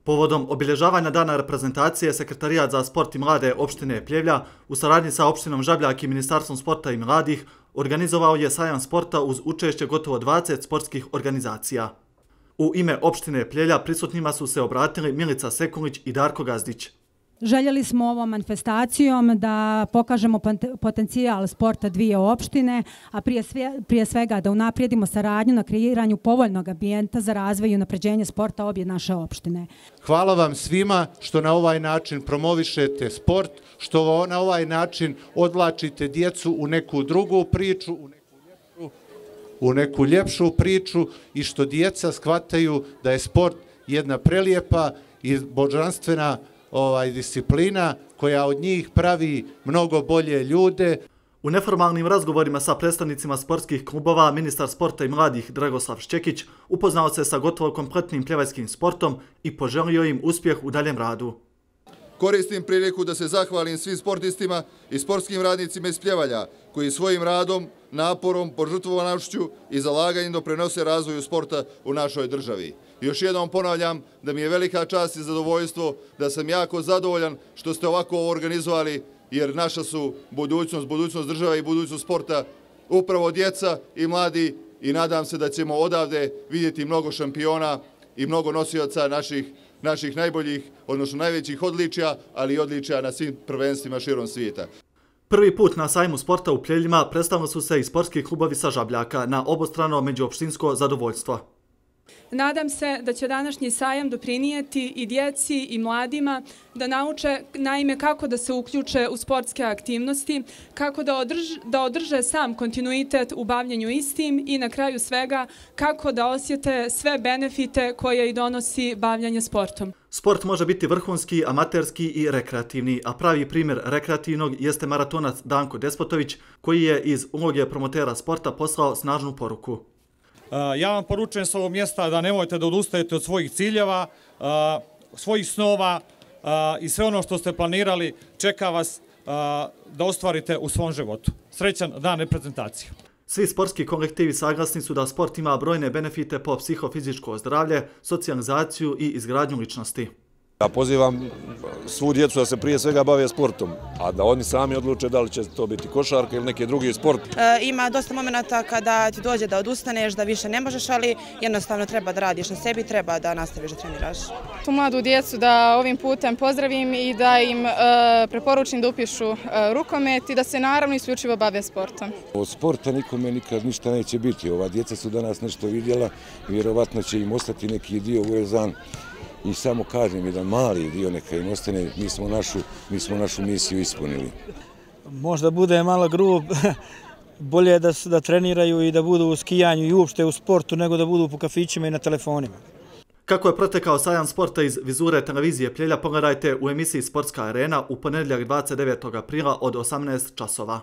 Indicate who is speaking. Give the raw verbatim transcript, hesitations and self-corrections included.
Speaker 1: Povodom obilježavanja dana reprezentacije, Sekretarijat za sport i mlade opštine Pljevlja u saradnji sa opštinom Žabljak i Ministarstvom sporta i mladih organizovao je sajam sporta uz učešće gotovo dvadeset sportskih organizacija. U ime opštine Pljevlja prisutnima su se obratili Milica Sekulić i Darko Gazdić.
Speaker 2: Željeli smo ovom manifestacijom da pokažemo potencijal sporta dvije opštine, a prije, sve, prije svega da unaprijedimo saradnju na kreiranju povoljnog ambijenta za razvoj i unapređenje sporta obje naše opštine.
Speaker 3: Hvala vam svima što na ovaj način promovišete sport, što na ovaj način odvlačite djecu u neku drugu priču, u neku ljepšu, u neku ljepšu priču i što djeca shvataju da je sport jedna prelijepa i božanstvena ovaj, disciplina koja od njih pravi mnogo bolje ljude.
Speaker 1: U neformalnim razgovorima sa predstavnicima sportskih klubova ministar sporta i mladih Dragoslav Šćekić upoznao se sa gotovo kompletnim pljevajskim sportom i poželio im uspjeh u daljem radu.
Speaker 4: Koristim priliku da se zahvalim svim sportistima i sportskim radnicima iz Pljevalja koji svojim radom, naporom, požrtvovanošću i zalaganjem doprinose razvoju sporta u našoj državi. Još jednom ponavljam da mi je velika čast i zadovoljstvo, da sam jako zadovoljan što ste ovako ovo organizovali, jer naša su budućnost, budućnost države i budućnost sporta upravo djeca i mladi i nadam se da ćemo odavde vidjeti mnogo šampiona i mnogo nosioca naših, naših najboljih, odnosno najvećih odličja, ali i odličja na svim prvenstvima širom svijeta.
Speaker 1: Prvi put na sajmu sporta u Pljevljima predstavili su se i sportski klubovi sa Žabljaka na obostrano međuopštinsko zadovoljstvo.
Speaker 5: Nadam se da će današnji sajam doprinijeti i djeci i mladima da nauče naime kako da se uključe u sportske aktivnosti, kako da održe, da održe sam kontinuitet u bavljenju istim i na kraju svega kako da osjete sve benefite koje i donosi bavljanje sportom.
Speaker 1: Sport može biti vrhunski, amaterski i rekreativni, a pravi primjer rekreativnog jeste maratonac Danko Despotović koji je iz uloge promotera sporta poslao snažnu poruku.
Speaker 6: Ja vam poručujem s ovog mjesta da nemojte da odustajete od svojih ciljeva, svojih snova i sve ono što ste planirali čeka vas da ostvarite u svom životu. Srećan dan reprezentacije.
Speaker 1: Svi sportski kolektivi saglasni su da sport ima brojne benefite po psihofizičko zdravlje, socijalizaciju i izgradnju ličnosti.
Speaker 7: Ja pozivam svu djecu da se prije svega bave sportom, a da oni sami odluče da li će to biti košarka ili neki drugi sport.
Speaker 8: E, ima dosta momenta kada ti dođe da odustaneš, da više ne možeš, ali jednostavno treba da radiš na sebi, treba da nastaviš da treniraš.
Speaker 9: Tu mladu djecu da ovim putem pozdravim i da im e, preporučim da upišu e, rukomet i da se naravno isključivo bave sportom.
Speaker 10: Od sporta nikome nikad ništa neće biti. Ova djeca su danas nešto vidjela, vjerovatno će im ostati neki dio uvezan. I samo kažem, jedan mali dio neka im ostane, mi smo našu, mi smo našu misiju ispunili.
Speaker 11: Možda bude malo grub, bolje da, da treniraju i da budu u skijanju i uopšte u sportu nego da budu po kafićima i na telefonima.
Speaker 1: Kako je protekao sajam sporta iz vizure televizije Pljevlja, pogledajte u emisiji Sportska arena u ponedjeljak dvadeset devetog aprila od osamnaest časova.